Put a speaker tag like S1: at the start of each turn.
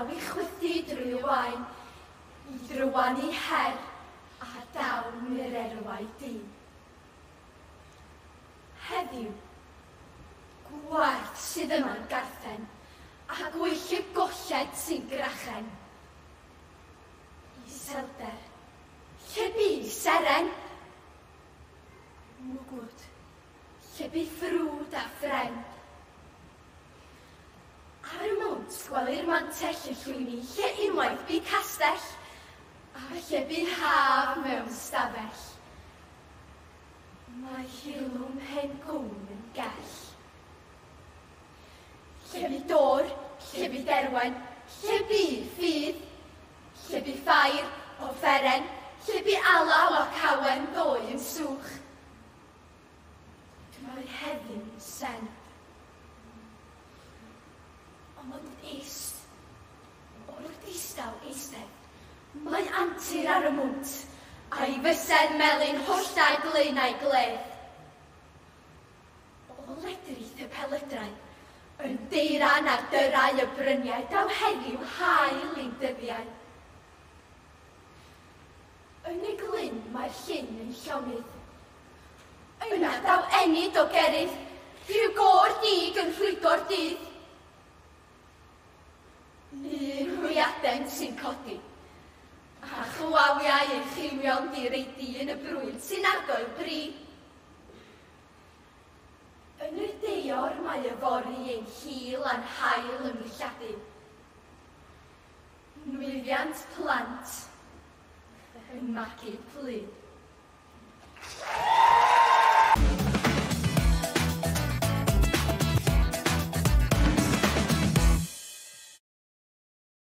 S1: ddaw i chwythu drwy y waen, i drywanu her a dawn i'r erwau du. Heddiw, gwarth sydd yma'n garthen, a gwyll y golled sy'n grachen. Iselder, lle bu seren? Mwgwd, lle bu ffrwd a phren? Ar y mwnt gwelir mantell y llwyni, lle unwaith bu castell, a lle bu haf mewn stafell. Mae hirlwm hen gwn yn gell. Lle bu dôr, lle bu derwen, lle bu ffydd, lle bu ffair, offeren, lle bu alaw ac awen ddoe yn swch. Mae heddiw'n sen. Ond is, o'r distaw eistedd, mae antur ar y mwnt, a'i fysedd melyn holltau glyn a'i gledd. O ledrith y pelydrau, yn deiran ar dyrau y bryniau, daw heddiw haul i'n dyddiau. Yn y glyn mae'r llyn yn llonydd. Yna daw ennyd o gerydd, rhyw gôr dig yn rhwygo'r dydd. Un hwyaden sy'n codi, a chwawiau ei chywion direidi yn y brwyd sy'n argoel bri. Yn y deor mae yfory ein hil a'n haul yn ddilladu. Nwyddiant plant yn magu plu.